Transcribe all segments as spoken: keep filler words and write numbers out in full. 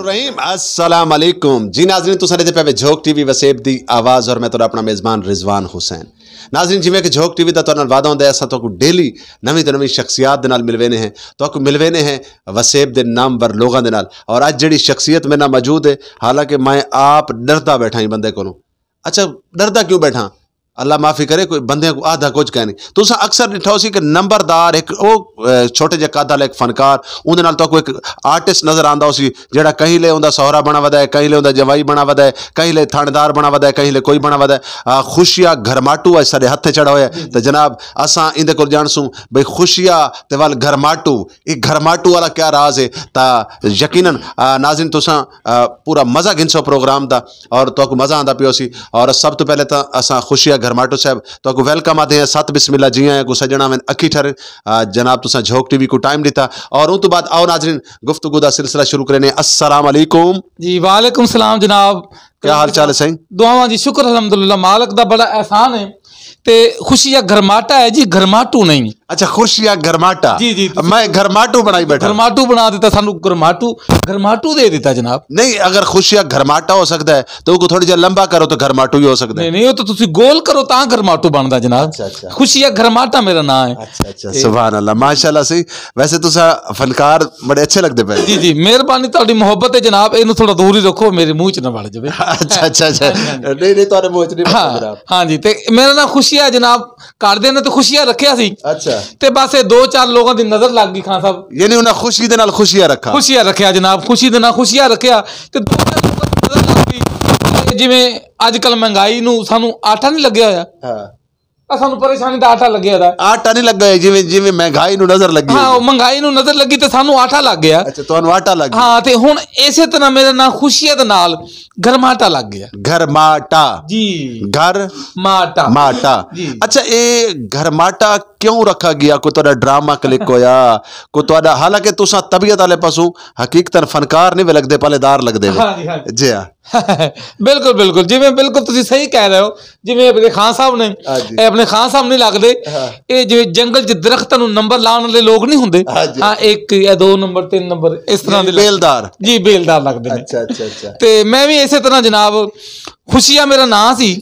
رحیم، السلام علیکم جی ناظرین، تساں ݙیہدے پئے وے جھوک ٹی وی وسیب دی آواز، اور میں تہاݙا اپݨا میزبان رضوان حسین۔ ناظرین، جیویں کہ جھوک ٹی وی دا تہاݙے نال وعدہ ہوندا ہے، اساں تہاکوں ڈیلی نویں تے نویں شخصیات دے نال ملویندے ہیں، تہاکوں ملویندے ہیں وسیب دے نامور لوگاں دے نال۔ اور اڄ جیڑھی شخصیت میرے نال موجود ہے، حالانکہ میں آپ ݙردا ٻیٹھا ہاں بندے کولوں۔ اچھا، ݙردا کیوں ٻیٹھاں؟ اللہ معافی کرے، کوئی بندیاں کوں آہدا کجھ کائنی۔ تساں اکثر ݙٹھا ہوسی کہ نمبردار ہک او، اے، چھوٹے جے قد والا ہک فنکار، اوندے نال تہاکوں ہک آرٹسٹ نظر آندا ہوسی، جیڑھا کہیں لے اوندا سہرا بݨا ودا ہے، کہیں لے اوندا جوائی بݨا ودا ہے، کہیں لے تھاݨیدار بݨا ودا ہے، کہیں لے کوئی بݨا ودا ہے۔ آ، خوشیا گھرماٹو اڄ ساݙے ہتھ چڑھا ہویا ہے۔ تے جناب، اساں ایندے کول ڄاݨسوں بھئی خوشیا تے ول گھرماٹو، اے گھرماٹو والا کیا راز ہے؟ تاں یقیناً، آ، ناظرین، تساں، آ، پورا مزہ گھنسو پروگرام دا، اور تہاکوں مزہ آندا پیا ہوسی۔ اور سب توں پہلے تاں اساں خوشیا گھرماٹو صاحب تہاکوں ویلکم آہدے ہیں، ست بسم اللہ، جی آیاں کوں سڄݨ آون، اکھی ٹھرن۔ آ، جناب، تساں جھوک ٹی وی کوں ٹائم ݙتا، اور اوں توں بعد آؤ ناظرین، گفتگو دا سلسلہ شروع کرینے۔ السلام علیکم۔ جی، وعلیکم السلام جناب۔ کیا حال چال ہے سائیں؟ دعاواں جی، شکر الحمدللہ، مالک دا بڑا احسان ہے۔ تے خوشیا گھرماٹا ہے جی، گھرماٹو نہیں۔ اچھا، خوشیا گھرماٹا۔ جی، جی، تسی میں گھرماٹو بݨائی ٻیٹھا۔ گھرماٹو بݨا ݙتا سانوں، گھرماٹو، گھرماٹو ݙے ݙتا جناب۔ نہیں، اگر خوشیا گھرماٹا ہو سڳدا ہے تے اوکوں تھوڑی جئی لمبا کرو تے گھرماٹو ہی ہو سڳدا ہے۔ نہیں، نہیں، او تاں تسی گول کرو تاں گھرماٹو بݨدا جناب۔ اچھا، اچھا۔ خوشیا گھرماٹا میرا ناں ہے۔ اچھا، اچھا، تے سبحان اللہ، ماشاءاللہ سائیں۔ ویسے تساں فنکار بڑے اچھے لڳدے پئے۔ جی، جی، مہربانی، تہاݙی محبت ہے جناب، اینوں تھوڑا دور ہی رکھو، میرے منہ چ نہ وڑ جاوے۔ اچھا، اچھا، اچھا۔ ہاں جی، ہاں جی۔ نہیں، نہیں، تہاݙے منہ چ نہیں وڑدا ہاں، جناب۔ ہاں جی، تے میرا ناں خوشیا جناب، گھر دے نے تے خوشیا رکھیا سی۔ اچھا۔ تے بس اے دو چار لوگاں دی نظر لڳ ڳئی خان صاحب۔ یعنی انہاں خوشی دے نال خوشیا رکھا۔ خوشیا رکھیا جناب، خوشی دے نال خوشیا رکھیا۔ تے دو چار لوگاں دی نظر لڳ ڳئی۔ تے جیویں اڄ کل مہنگائی نوں سانوں آٹا نہیں لڳیا ہویا۔ ہاں۔ آ سانوں پریشانی دا آٹا لڳیا دا۔ آٹا نہیں لڳا ہویا، جیویں، جیویں مہنگائی نوں نظر لڳی ہاں، ہوئی۔ او مہنگائی نوں نظر لڳی تے سانوں آٹا لڳ ڳیا۔ اچھا، تہانوں آٹا لڳ ڳیا۔ ہاں، تے ہݨ اسے طرح میرا ناں خوشیا دے نال گھرماٹا لڳ ڳیا۔ گھرماٹا۔ جی۔ گھر ماٹا۔ ماٹا۔ جی۔ اچھا، اے گھرماٹا کیوں رکھا ڳیا؟ کوئی تہاݙا ڈرامہ کلک ہویا؟ کوئی تہاݙا، حالانکہ تساں طبیعت والے پاسوں حقیقتاً فنکار نہیں وے لڳدے، پالے دار لڳدے وے۔ ہاں جی، ہاں جی۔ جی ہاں۔ بالکل، بالکل، جیویں بالکل تسی صحیح کہہ رہے ہو، جیویں اپݨے خان صاحب نے، ہاں جی۔ اے اپݨے خان صاحب نہیں لڳدے، ہاں۔ اے جیویں جنگل چ درختاں نوں نمبر لاوݨ والے لوگ نہیں ہوندے، ہاں جی۔ ہاں، ہک یا دو نمبر، تین نمبر، اس طرح یعنی دے لڳ-، بیلدار۔ جی، بیلدار لڳدے نے۔ اچھا، اچھا، اچھا۔ تے میں وی اسے طرح جناب، خوشیا میرا ناں سی،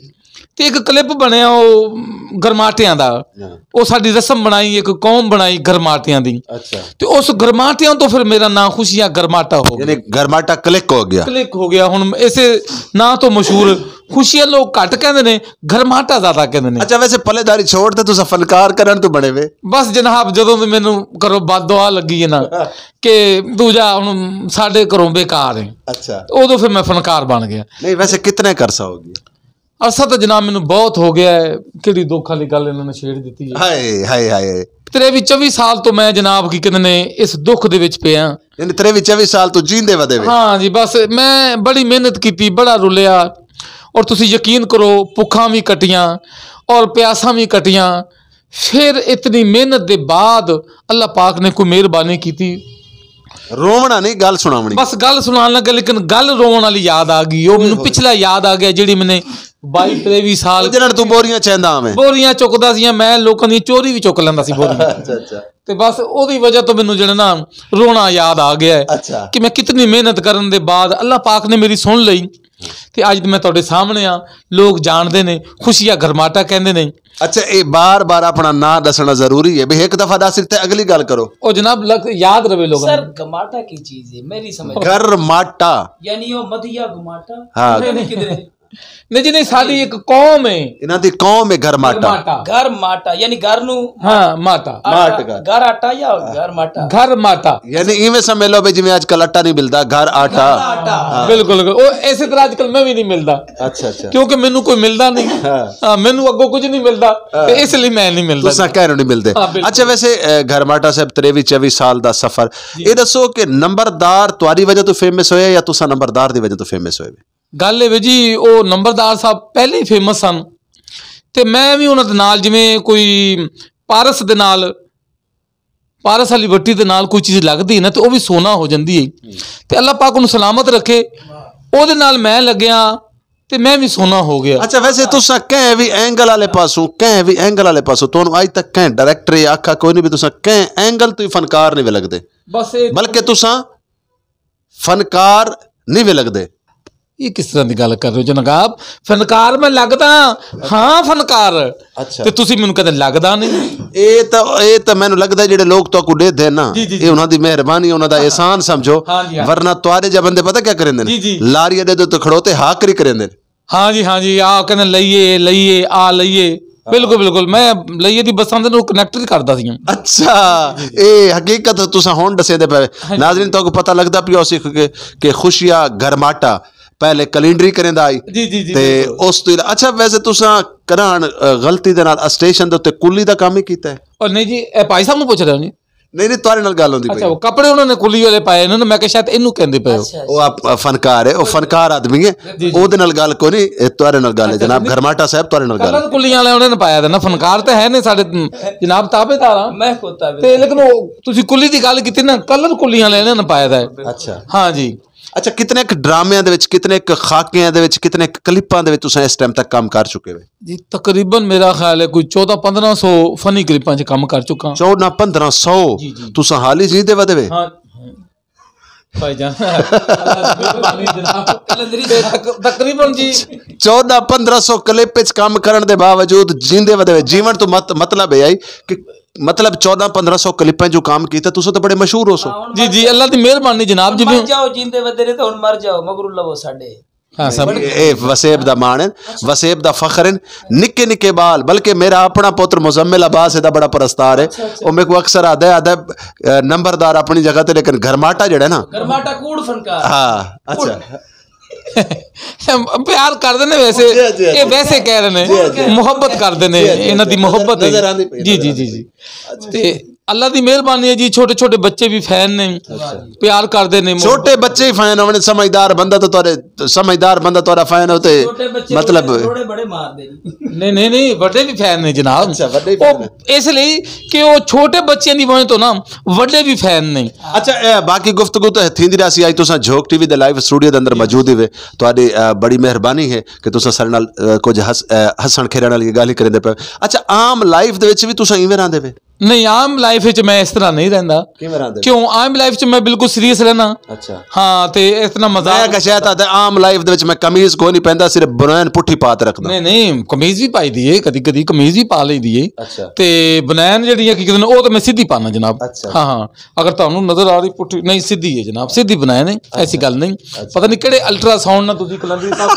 تے ہک کلپ بݨیا او گھرماٹیاں دا۔ ہاں۔ او ساݙی رسم بݨائی، ہک قوم بݨائی گھرماٹیاں دی۔ اچھا۔ تے اس گھرماٹیاں توں پھر میرا ناں خوشیا گھرماٹا ہو ڳیا۔ یعنی گھرماٹا کلک ہو ڳیا۔ کلک ہو ڳیا۔ ہݨ اسے ناں توں مشہور خوشیا لوگ گھٹ کہندے نے، گھرماٹا زیادہ کہندے نے۔ اچھا، ویسے پلے داری چھوڑ تے تساں فنکار کرݨ توں بݨے وے؟ بس جناب، جدوں توں مینوں گھروں بد دعا لڳی ہے نا، ہاں۔ کہ توں جا ہݨ ساݙے گھروں بیکار ہیں۔ اچھا۔ اودوں پھر میں فنکار بݨ ڳیا۔ نہیں، ویسے کتنے عرصہ ہو ڳیا؟ عرصہ تاں جناب مینوں بہت ہو ڳیا ہے، کیڑھی دکھ والی ڳالھ انہاں نے چھیڑ ݙتی ہے۔ ہائے، ہائے، ہائے۔ تریوی چوی سال توں میں جناب کی کہندے نے اس دکھ دے وچ پیا۔ یعنی تریوی چوی سال توں جیندے ودے وے؟ ہاں جی، بس میں بڑی محنت کیتی، بڑا رلیا، اور تسی یقین کرو، بھکھاں وی کٹیاں اور پیاساں وی کٹیاں، پھر اتنی محنت دے بعد اللہ پاک نے کوئی مہربانی کیتی۔ رووݨا نہیں، ڳالھ سݨاوݨی۔ بس ڳالھ سݨاوݨ لڳا، لیکن ڳالھ رووݨ والی یاد آ ڳئی۔ او مینوں پچھلا یاد آ ڳیا، جیڑھی میں نے بائی تریوی سال او جنہاں توں بوریاں چیندا آویں۔ بوریاں چکدا سی، میں لوکاں دی چوری وی چک لیندا سی بوریاں۔ اچھا، اچھا۔ تے بس اودی وجہ توں مینوں جیڑھا نا رووݨا یاد آ ڳیا ہے، اچھا۔ کہ میں کتنی محنت کرݨ دے بعد اللہ پاک نے میری سݨ لئی۔ تے اڄ میں تہاݙے سامݨے ہاں، لوگ جاݨدے نے، خوشیا گھرماٹا کہندے نے۔ اچھا، اے بار بار اپݨا ناں ݙسݨا ضروری ہے؟ بھئی ہک دفعہ ݙس ݙتے، اگلی ڳالھ کرو۔ او جناب، لگ-، یاد رہے لوگاں سر، نوں۔ گھماٹا کی چیز ہے؟ میری سمجھ۔ گھرماٹا۔ یعنی او مدھیا گھماٹا؟ ہاں۔ نہیں، نہیں۔ کدھر ہے؟ نہیں جی، نہیں، ساݙی ہک قوم ہے۔ انہاں دی قوم ہے گھرماٹا۔ گھرماٹا۔ گھرماٹا، یعنی گھر نوں ہاں، ماٹا۔ آٹا، ماٹ گھر۔ گھر آٹا یا گھرماٹا؟ گھرماٹا۔ یعنی ایویں سمجھ لو بھئی جیویں اڄ کل آٹا نہیں ملدا، گھر آٹا۔ گھر آٹا۔ ہاں۔ بالکل، بالکل۔ او اسے طرح اڄ کل میں وی نہیں ملدا۔ اچھا، اچھا۔ کیونکہ مینوں کوئی ملدا نہیں۔ ہاں۔ ہاں، مینوں اڳوں کجھ نہیں ملدا، ہاں۔ تے اس لئی میں نہیں ملدا۔ تساں کہہ رہے نہیں ملدے۔ ہاں، بالکل۔ اچھا، ویسے، اے، گھرماٹا صاحب تریوی چوی سال دا سفر، جی۔ اے ݙسو کہ نمبردار تہاݙی وجہ توں فیمس ہوئے یا تساں نمبردار دی وجہ توں فیمس ہوئے وے؟ ڳالھ اے وے جی، او نمبردار صاحب پہلے ہی فیمس سن، تے میں وی انہاں دے نال جیویں کوئی پارس دے نال، پارس والی وٹی دے نال کوئی چیز لڳدی ہے نا، تے او وی سونا ہو جاندی ہے۔ تے اللہ پاک انہوں سلامت رکھے، او دے نال میں لڳیا، تے میں وی سونا ہو ڳیا۔ اچھا، ویسے تساں کہیں وی اینگل والے پاسوں، کہیں وی اینگل والے پاسوں، تہانوں اڄ تک کہیں ڈائریکٹر یا آکھا کوئی نہیں بھی تساں کہیں اینگل توں ہی فنکار نہیں وے لڳدے۔ بس اے بلکہ تساں فنکار نہیں وے لڳدے؟ یہ کس طرح کی گل کر رہے ہو جناب؟ فنکار میں لگدا ہاں، فنکار۔ اچھا۔ تے تسی مینوں کدے لگدا نہیں۔ اے تاں اے تاں مینوں لڳدا جڑے لوگ تہاکوں ݙیدھے نا، جی، جی، اے جی۔ انہاں دی مہربانی، انہاں دا احسان سمجھو۔ ہاں جی، ہاں۔ ورنہ تہاڈے جا بندے پتہ کیا کریندے نے؟ جی، جی۔ لاری اڈے تے کھڑو تے ہا کری کریندے نے۔ ہاں جی، ہاں جی، آ کہندے لئیے، لئیے، آ لئیے۔ بالکل، بالکل، میں لئیے دی بساں دے نال کنیکٹ کردا سی۔ اچھا، اے حقیقت تساں ہن ݙسیندے پئے۔ ناظرین، تہاکوں پتہ لڳدا پیا ہوسی کہ کہ خوشیا گھرماٹا پہلے کلینڈری کریندا آئی۔ جی، جی، جی، تے بالکل۔ اس تو علا-، اچھا، ویسے تساں کراہن، آ، غلطی دے نال اسٹیشن دے اُتے کلی دا کم ہی کیتا ہے؟ اور نہیں جی، اے بھائی صاحب نوں پوچھ رہے ہو جی؟ نہیں، نہیں، تہاڈے نال گل ہوندی پئی اچھا، ہے۔ وہ کپڑے انہوں نے کلی والے پائے، انہوں نے، میں کہ شاید اینوں کہندے پئے ہو۔ اچھا وہ آپ فنکار ہے، وہ فنکار آدمی ہے۔ جی، جی۔ اودے نال گل کوئی نہیں، اے تہاڈے نال گل ہے اچھا، جناب، جی۔ گھرماٹا صاحب تہاڈے نال گل ہے۔ کلر کلیاں والے انہوں نے پایا تھا نا، فنکار تے ہے نے ساڈے جناب تابعدار ہاں۔ میں خود تابع تے لیکن وہ تسی کلی دی گل کیتی نا، کلر کلیاں والے انہوں نے پایا تھا۔ اچھا۔ ہاں جی۔ اچھا، کتنے ایک ڈرامے دے وچ، کتنے ایک خاکیاں دے وچ، کتنے ایک کلپاں دے وچ تساں اس ٹائم تک کم کر چکے ہو؟ جی، تقریباً میرا خیال ہے کوئی چودہ پندرہ سو فنی کلپاں 'چ کم کر چکا۔ چودہ پندرہ سو؟ جی، جی۔ تساں حالی جیندے ودے وے؟ ہاں۔ بھائی جان، قلندری صاحب۔ تقریباً جی۔ چودہ پندرہ سو کلپ وچ کم کرن دے باوجود جیندے ودے وے۔ جیون تو مت-، مطلب ہے آئی کہ مطلب چودہ پندرہ سو کلپاں جو کام کیتا، تساں تو بڑے مشہور ہو سو۔ جی، جی، اللہ دی مہربانی جناب جی۔ مر جاؤ، جیندے ودے نے تو ہن مر جاؤ، مگر لو ساڈے۔ ہاں سب۔ اے وسیب دا ماݨ ہے، وسیب دا فخر ہے۔ نکے نکے بال، بلکہ میرا اپنا پتر مزمل عباس دا بڑا پرستار ہے۔ او میکوں اکثر آدھا ہے، آدھا ہے، "نمبردار اپنی جگہ تے، لیکن گھرماٹا جڑا ہے نا۔" گھرماٹا کوڑ فنکار۔ ہاں، اچھا۔ پیار کردے نے ویسے، جی، جی، جی۔ یہ ویسے کہہ رہے نے، جی، جی۔ محبت کردے نے، جی، جی، انہاں دی جی۔ محبت ہے۔ نظر آندی پئی، جی، نظر جی، آندی جی، پئی۔ جی۔ تے اللہ دی مہربانی ہے جی، چھوٹے چھوٹے بچے بھی فین نے، اچھا۔ پیار کردے نے۔ چھوٹے بچے ہی فین ہونے، سمجھدار بندہ تو تہاڈے، سمجھدار بندہ تہاڈا فین ہوتے، چھوٹے بچے مطلب تھوڑے بڑے مار دے۔ نہیں، نہیں، نہیں، وڈے بھی فین نے جناب۔ اچھا، وڈے بھی او فین نے۔ اس لیے کہ وہ چھوٹے بچے دی وجہ تو نا وڈے بھی فین نے۔ اچھا، اے، باقی گفتگو تو تھیندی رہسی۔ اج تساں جھوک ٹی وی دے لائیو اسٹوڈیو دے اندر موجود ہی وے، تہاڈی، اے، بڑی مہربانی ہے کہ تساں ساڈے نال، اے، کچھ ہس-، اے، ہسن کھیرن والی گل ہی کریندے پے۔ اچھا، عام لائف دے وچ بھی تساں ایویں رہندے وے؟ نہیں، عام لائف وچ میں اس طرح نہیں رہندا۔ کیویں رہندے وے؟ کیوں؟ عام لائف وچ میں بالکل سیریس رہنا۔ اچھا۔ ہاں، تے اتنا مزاق۔ میں کہ شاید آتے عام لائف دے وچ میں قمیض کوئی نہیں پیندا، صرف بنین پٹھی پا تے رکھدا۔ نہیں، نہیں، قمیض بھی پائی دی ہے، کدی کدی قمیض بھی پا لئی دی ہے۔ اچھا۔ تے بنین جڑی ہے کہ کہندے نے، او تے میں سیدھی پانا جناب۔ اچھا۔ ہاں، ہاں، اگر تانوں نظر آ رہی پٹھی، نہیں، سیدھی ہے جناب، سیدھی بنین ہے، ایسی گل نہیں۔ پتہ نہیں کہڑے الٹرا ساؤنڈ نال تسی کلندری صاحب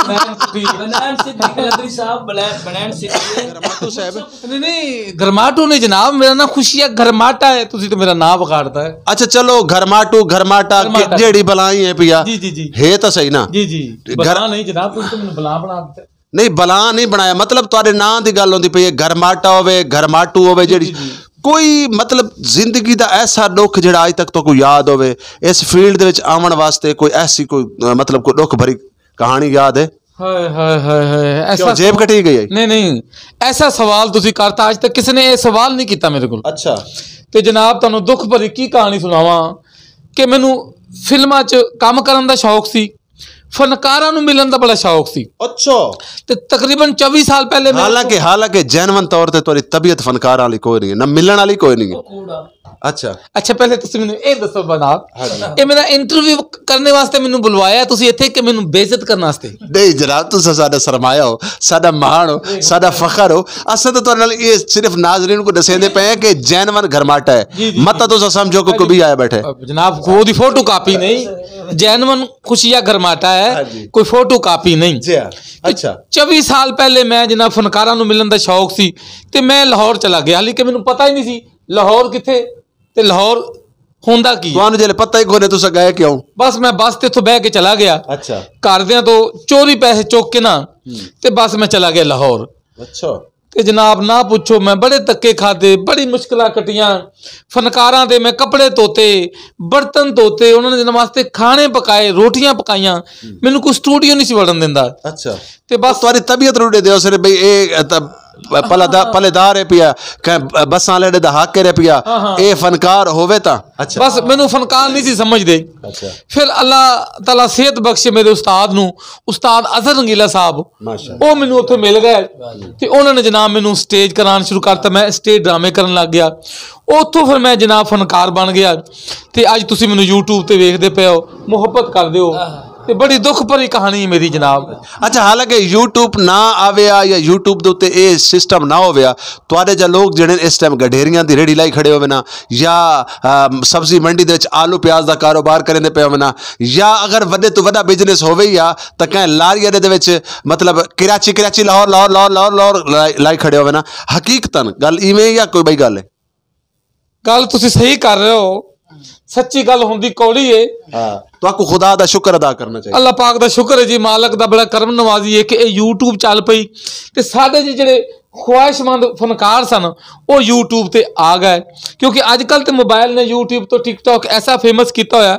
بنین پٹھی۔ بنان سیدھی کلندری صاحب، بنان، بنان سیدھی ہے۔ گھرماٹو صاحب۔ نہیں، نہیں، گھرماٹو نہیں جناب، میرا نام خوشیا گھرماٹا ہے، تسی تو میرا نام بگاڑتا ہے۔ اچھا، چلو، گھرماٹو، گھرماٹا، گھرماٹا۔ جیڑی بلائیں ہے پیا۔ جی، جی، جی۔ ہے تو صحیح نا؟ جی، جی، گھر- بلا نہیں جناب، تسی تو مینوں بلا بنا دیتا۔ نہیں، بلا نہیں بنایا، مطلب تہاڈے ناں دی گل ہوندی پئی ہے، گھرماٹا ہوے، گھرماٹو ہوے، جیڑی جی، جی۔ کوئی مطلب زندگی دا ایسا ݙکھ جیڑا اج تک تہاکوں یاد ہوے، اس فیلڈ دے وچ آوݨ واسطے کوئی ایسی کوئی، اہ، مطلب کوئی ݙکھ بھری کہانی یاد ہے؟ ہائے، ہائے، ہائے، ہائے، ایسا کیوں، جیب کٹی گئی ہے؟ نہیں، نہیں، ایسا سوال تسی کرتا، اج تک کسی نے یہ سوال نہیں کیتا میرے کول۔ اچھا۔ تے جناب، تانوں ݙکھ بھری کی کہانی سناواں کہ مینوں فلماں 'چ کم کرن دا شوق سی، فنکاراں نوں ملن دا بڑا شوق سی۔ اچھا۔ تے تقریباً چوی سال پہلے میں حالانکہ، حالانکہ جینون طور تے تہاڈی طبیعت فنکاراں والی کوئی نہیں ہے، نہ ملن والی کوئی نہیں ہے۔ کوڑا۔ اچھا۔ اچھا، پہلے تسی مینوں اے دسو جناب، ہاں جی۔ اے میرا انٹرویو کرنے واسطے مینوں بلوایا تسی اتھے کہ مینوں بے عزت کرنے واسطے؟ نہیں جناب، تساں ساڈا سرمایہ ہو، ساڈا ماݨ ہو، ساڈا فخر ہو۔ اساں تو تہاڈے نال اے صرف ناظرین کوں ݙسیندے پئے ہیں کہ جینون گھرماٹا ہے۔ جی، جی، مت جی۔ تساں سمجھو کہ کوئی بھی آیا بیٹھے۔ جناب، خود دی فوٹو کاپی نہیں، جینون خوشیا گھرماٹا ہے، ہاں جی۔ کوئی فوٹو کاپی نہیں۔ جی ہاں۔ اچھا۔ چوی سال پہلے میں جناب فنکاراں نوں ملن دا شوق سی تے میں لاہور چلا گیا، حالی کہ مینوں پتہ ہی نہیں سی لاہور کتھے تے لاہور ہوندا کی۔ تہانوں جلے پتہ ہی کوئی نہیں تساں گئے کیوں؟ بس میں بس تے اتھوں بہ کے چلا گیا۔ اچھا۔ گھر دیاں تو چوری پیسے چک کے نا تے بس میں چلا گیا لاہور۔ اچھا۔ تے جناب نہ پچھو، میں بڑے دھکے کھادے، بڑی مشکلاں کٹیاں۔ فنکاراں دے میں کپڑے دھوتے، برتن دھوتے، انہاں دے واسطے کھانے پکائے، روٹیاں پکائیاں۔ مینوں کوئی سٹوڈیو نہیں سی وڑن دیندا۔ اچھا۔ تے بس تہاڈی طبیعت روڑے دیو سر بھئی اے، اے تاں پلہ دا پلے دار ہے پیا، کہیں بساں والے دا حق ہے پیا۔ اے فنکار ہووے تاں اچھا۔ بس مینوں فنکار نہیں سی سمجھدے۔ پھر اللہ تعالیٰ صحت بخشے میرے استاد نوں، استاد اظہر رنگیلا صاحب، ماشاءاللہ۔ او مینوں اتھے مل گئے تے انہاں نے جناب مینوں سٹیج کران شروع کرتا، میں سٹیج ڈرامے کرن لگ گیا۔ اتھوں پھر میں جناب فنکار بن گیا تے اج تسی مینوں یوٹیوب تے ویکھدے پئے ہو، محبت کر دیو۔ تے بڑی دکھ بھری کہانی ہے میری جناب۔ اچھا، حالانکہ یوٹیوب نہ آویا یا یوٹیوب دے اتے اے سسٹم نہ ہویا، تہاڈے جا لوگ جڑے اس ٹائم گڈھیریاں دی ریڑھی لائی کھڑے ہووے نا، یا آ، سبزی منڈی دے وچ آلو پیاز دا کاروبار کریندے پئے ہووے نا، یا اگر وڈے تو وڈا بزنس ہووے یا، تاں کہیں لاری اڈے دے وچ، مطلب، کراچی کراچی، لاہور لاہور لاہور لاہور لاہور لائی لائی کھڑے ہووے نا۔ حقیقتاً گل ایویں یا کوئی بئی گل ہے؟ گل تسی صحیح کر رہے ہو، سچی گل ہوندی کوڑی ہے۔ ہاں، تو آپ کو خدا دا شکر ادا کرنا چاہیے۔ اللہ پاک دا شکر ہے جی، مالک دا بڑا کرم نوازی ہے کہ اے یوٹیوب چل پئی تے ساڈے جی جڑے خواہش مند فنکار سن، او یوٹیوب تے آ گئے۔ کیونکہ اج کل تے موبائل نے یوٹیوب تو ٹک ٹاک ایسا فیمس کیتا ہویا،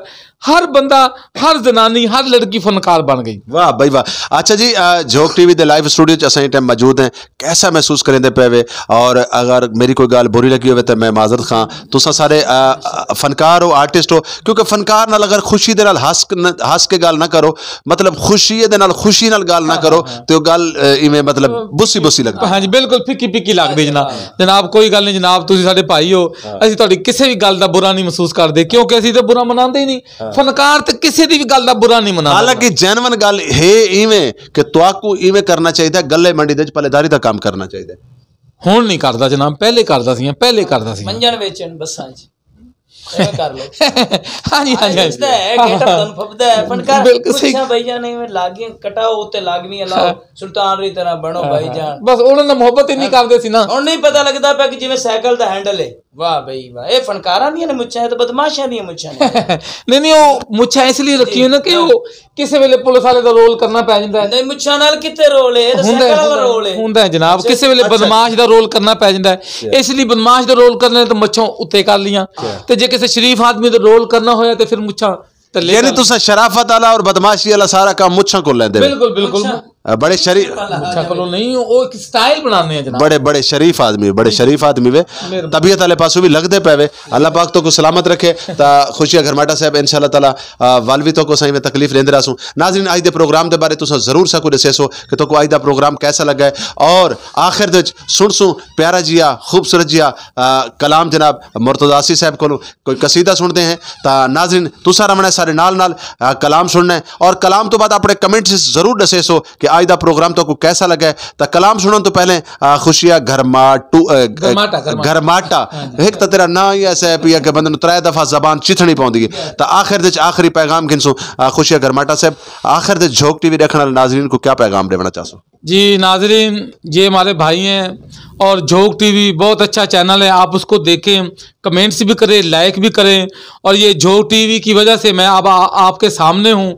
ہر بندہ، ہر زنانی، ہر لڑکی فنکار بن گئی۔ واہ بھائی واہ۔ اچھا جی، آ، جھوک ٹی وی دے لائیو اسٹوڈیو چ اساں ایں ٹائم موجود ہیں، کیسا محسوس کریندے پئے وے؟ اور اگر میری کوئی گال بری لگی ہوئے تو میں معذرت خواں۔ تساں سارے، آ، آ، فنکار ہو، آرٹسٹ ہو، کیونکہ فنکار نال اگر خوشی دے نال ہنس ک-، نہ، ہنس کے گال نہ کرو، مطلب خوشی دے نال، خوشی نال گال نہ کرو، تے او گال، آ، ایویں مطلب بسی بسی لگدی۔ ہاں جی، بالکل پھکی پھکی لگدی جناب۔ جناب کوئی گل نہیں جناب، تسی ساڈے بھائی ہو، اسی تہاڈی کسے بھی گل دا برا نہیں محسوس کردے، کیونکہ اسی تے برا مناندے ہی نہیں۔ فنکار تے کسے دی بھی گل دا برا نہیں مناندا۔ حالانکہ جینون گل ہے ایویں کہ تہاکوں ایویں کرنا چاہیدا، گلے منڈی دے وچ پلے داری دا کام کرنا چاہیدا۔ ہن نہیں کردا جناب، پہلے کردا سی، پہلے کردا سی۔ منجن ویچن بساں وچ۔ ایویں کر لو۔ ہاں جی، ہاں جی، ہاں جی۔ نچدا ہے، گیٹ اپ تانوں پھبدا ہے، فنکار بالکل صحیح۔ پچھاں بھائی جان ایویں لاگیاں کٹاؤ تے لاگویں لاؤ، سلطان دی طرح بݨو بھائی جان۔ بس انہاں نال محبت ہی نہیں کردے سی نا۔ ہن نہیں پتہ لگدا پیا کہ جویں سائیکل دا ہینڈل ہے۔ واہ بھائی واہ، اے فنکاراں دیاں نے مچھاں، اے تاں بدمعاشاں دیاں مچھاں نے۔ نہیں، نہیں، او مچھاں اس لیے رکھی ہوئی نا کہ او کسے ویلے پولیس والے دا رول کرنا پے جاندا ہے۔ نہیں، مچھاں نال کتے رول ہے؟ اے تاں ہوندا ہے، سائیکل والا ہوندا ہے، رول ہے۔ ہوندا ہے جناب، اچھا، کسے ویلے اچھا۔ بدمعاش دا رول کرنا پے جاندا ہے۔ اچھا۔ اس لیے بدمعاش دا رول کرنے تے مچھاں اتے کر لیاں۔ اچھا۔ تے جے کسے شریف آدمی دا رول کرنا ہویا تے پھر مچھاں تلے یعنی کر تساں شرافت والا اور بدمعاشی والا سارا کام مچھاں کول لیندے ہو؟ بالکل، بالکل۔ مچھاں۔ آ، بڑے شریف۔ مچھاں کولوں نہیں، او ایک سٹائل بنانے ہیں جناب۔ بڑے، بڑے شریف آدمی، بڑے شریف آدمی وے۔ مہربانی۔ طبیعت والے پاسوں بھی لگدے پے وے۔ اللہ پاک تہاکوں سلامت رکھے۔ تا خوشیہ گھرماٹا صاحب، انشاءاللہ تعالیٰ، آ، ول وی تہاکوں سائیں میں تکلیف ݙیندے رہسوں۔ ناظرین، اڄ دے پروگرام دے بارے تساں ضرور ساکوں ݙسیسو کہ تہاکوں اڄ دا پروگرام کیسا لڳا ہے، اور آخر دے وچ سݨسوں پیارا جیا، خوبصورت جیا، آ، کلام جناب مرتضی آسی صاحب کولوں۔ کوئی قصیدہ سݨدے ہیں۔ تا ناظرین، تساں رہوݨا ہے سارے نال نال، آ، کلام سݨنا ہے، اور کلام تو بعد اپݨے کمنٹس ضرور ݙسیسو کہ اڄ دا پروگرام تہاکوں کیسا لڳا ہے۔ تا کلام سݨݨ تو پہلے، آ، خوشیہ گھرماٹو، آ، گھرماٹا، گھرماٹا۔ گھرماٹا۔ ہاں جی۔ ہک تاں تیرا ناں ہی ایسا ہے پیا کہ بندے نوں ترائے دفعہ زبان چتھݨی پوندی ہے۔ تا آخر دے وچ آخری پیغام گھنسوں، آ، خوشیہ گھرماٹا صاحب، آخر دے وچ جھوک ٹی وی ݙیکھݨ والے ناظرین کوں کیا پیغام ݙیوݨا چاہسو؟ جی ناظرین، یہ ہمارے بھائی ہیں اور جھوک ٹی وی بہت اچھا چینل ہے، آپ اس کو دیکھیں، کمنٹس بھی کریں، لائک بھی کریں، اور یہ جھوک ٹی وی کی وجہ سے میں اب آ-، آپ کے سامنے ہوں۔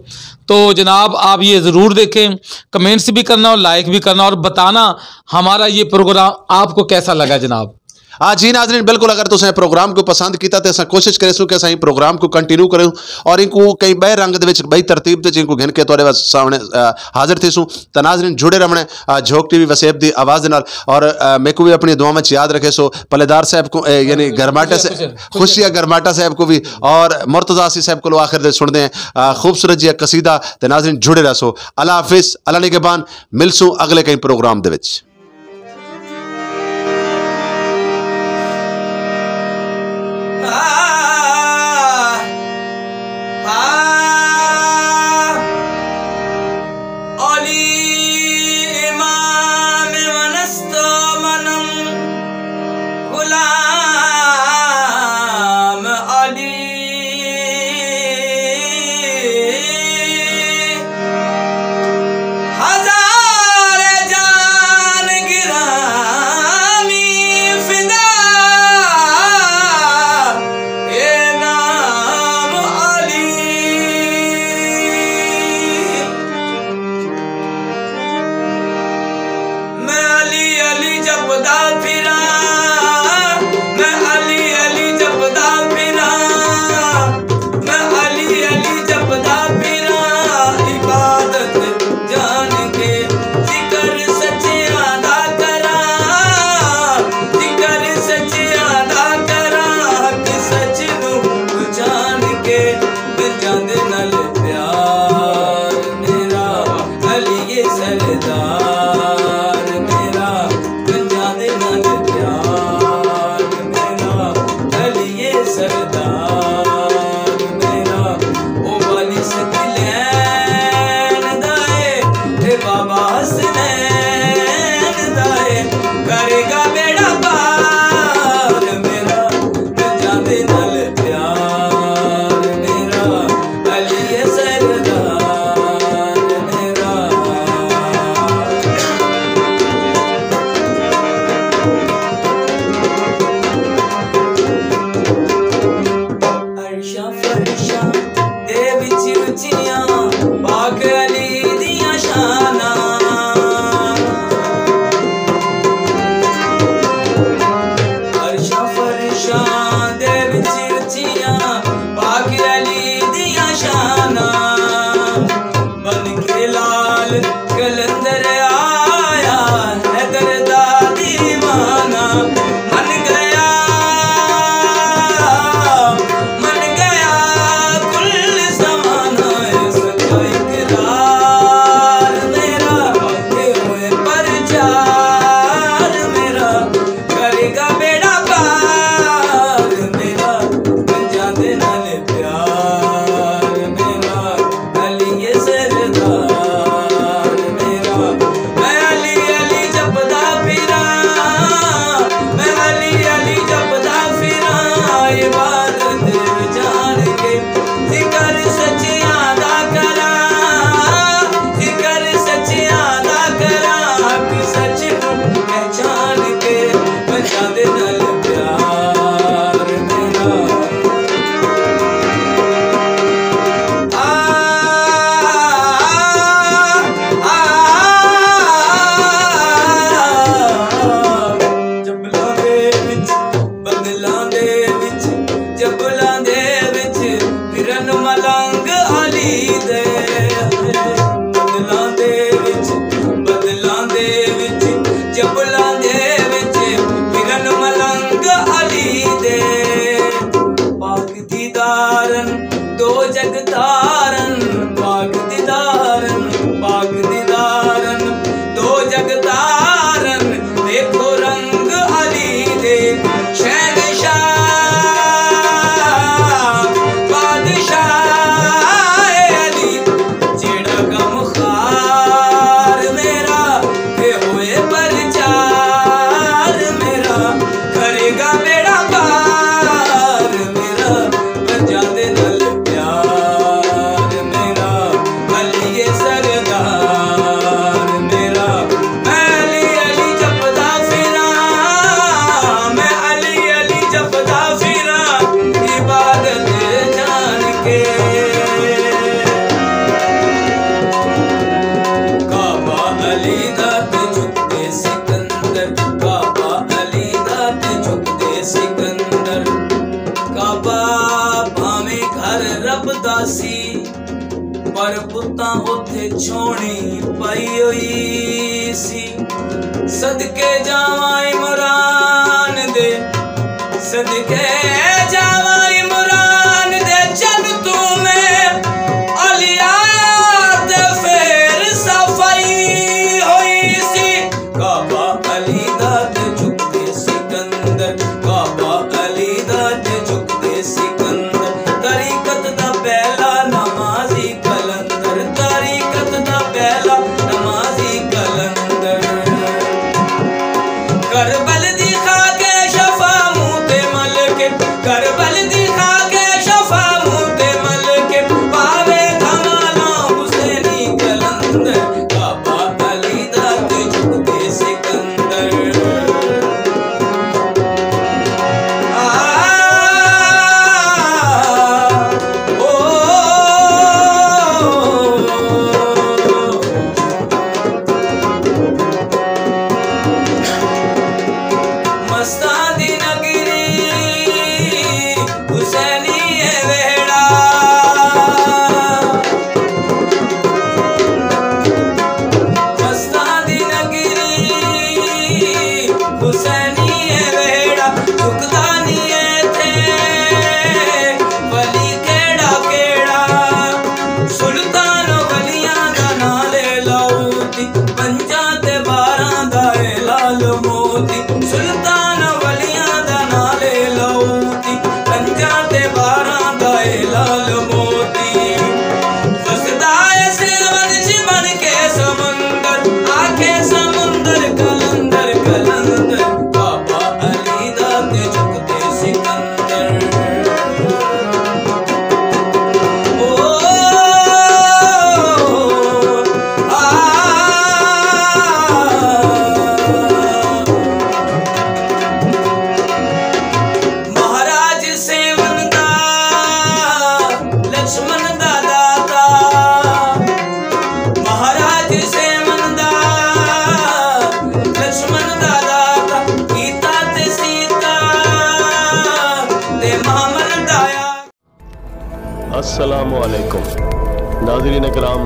تو جناب، آپ یہ ضرور دیکھیں، کمنٹس بھی کرنا اور لائک بھی کرنا اور بتانا ہمارا یہ پروگرام آپ کو کیسا لگا جناب۔ ہاں جی ناظرین، بالکل، اگر تساں پروگرام کوں پسند کیتا تے اساں کوشش کریسوں کہ اساں ایں پروگرام کوں کنٹینیو کروں اور اینکوں کہیں ٻئے رنگ دے وچ، ٻئی ترتیب تے جینکوں گھن کے تہاݙے وا-، سامݨے، آ، حاضر تھیسوں۔ تاں ناظرین، جڑے رہوݨے، آ، جھوک ٹی وی وسیب دی آواز دے نال، اور، آ، میکوں وی اپݨی دعاواں وچ یاد رکھیسو، پلے دار صاحب کوں، اے، یعنی گھرماٹا صاحب، خوشیہ گھرماٹا صاحب کوں وی، اور مرتضی آسی صاحب کولوں آخر دے سݨدے ہیں، آ، خوبصورت جیہا قصیدہ۔ تے ناظرین، جڑے رہسو۔ اللہ حافظ، اللہ نگہبان، ملسوں اڳلے کہیں پروگرام دے وچ۔ علی امام من است و منم غلام علی۔ ہزار جان جان کے بچا دے نال پیار میرا۔ آ، آ، آ، آ، جبلاں دے وچ، بدلاں دے وچ، جبلاں دے وچ، پھرن ملنگ علی دے۔ بدلاں دے وچ، بدلاں دے وچ، جبلاں دے وچ، پھرن ملنگ علی دے۔ پاک دیدارن، دو جگ تارن، پاک دیدارن، پاک دیدارن، دو جگ تارن، ݙیکھو رنگ علی دے۔ شہنشاہ، بادشاہ علی، جیڑھا غمخوار میرا، تے ہوئے پرچار میرا، کرے گا بیڑا پار میرا، بچا دے نال پیار میرا، علی اے سردار میرا۔ میں علی علی جپدا پھراں، میں علی علی جپدا پھراں، عبادت جان کے۔ کعبہ علی دا تے جھکدے سکندر، کعبہ علی دا تے جھکدے سکندر۔ کعبہ بھاویں گھر رب دا سی، پر بتاں اتھے چھوڑی پئی ہوئی سی۔ صدقے جاواں عمران دے، صدقے جاواں عمران دے، جب توں میں علی تے پھر صفائی ہوئی سی۔ کعبہ علی دا تے جھکدے سکندر، کعبہ علی دا تے جھکدے سکندر۔ طریقت دا پہلا نمازی قلندر، طریقت دا پہلا نمازی قلندر۔ کربل دی خاک شفا منہ تے مل کے، کربل دی خاک شفا منہ تے مل کے، پاوے دھمالاں حسینی قلندر۔ کعبہ علی دا تے جھکدے سکندر۔ آ، او، مستاں دی نگری حسینی اے ویڑھا، مستاں دی نگری حسینی اے ویڑھا، جھکدا نی ایتھے ولی کیڑھا کیڑھا۔ سلطان ولیاں دا ناں لے لو، پنجاں تے باراں دا اے لال موتی، سلطان ولیاں دا ناں لے لو، پنجاں تے باراں دا اے لال موتی۔ وسدا اے سیون اچ بݨ کے سمندر، آکھے سمندر قلندر قلندر، کعبہ علی دا تے جھکدے سکندر۔ مہاراج سیون دا، لکشمن دا داتا، مہاراج سیون دا، لکشمن دا داتا، گیتا تے سیتا تے مہامن دایا۔ السلام علیکم ناظرین کرام،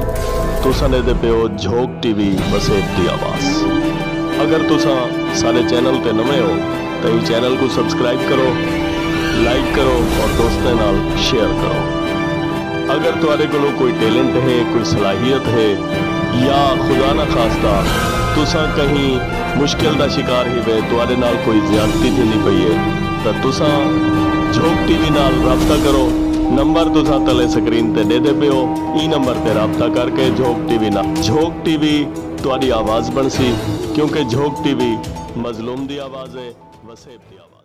تساں ݙیہدے پئے ہو جھوک ٹی وی وسیب دی آواز۔ اگر تساں ساݙے چینل تے نویں ہو تاں ایں چینل کوں سبسکرائب کرو، لائک کرو اور دوستاں نال شیئر کرو۔ اگر تہاݙے کولوں کوئی ٹیلنٹ ہے، کوئی صلاحیت ہے یا خدا نخواستہ تساں کہیں مشکل دا شکار ہیوے، تہاݙے نال کوئی زیادتی تھیندی پئی ہے، تاں تساں جھوک ٹی وی نال رابطہ کرو۔ نمبر تساں تلے سکرین تے ݙیہدے پئے ہو، ایں نمبر تے رابطہ کر کے جھوک ٹی وی نال، جھوک ٹی وی تہاݙی آواز بݨسی، کیونکہ جھوک ٹی وی مظلوم دی آواز ہے، وسیب دی آواز۔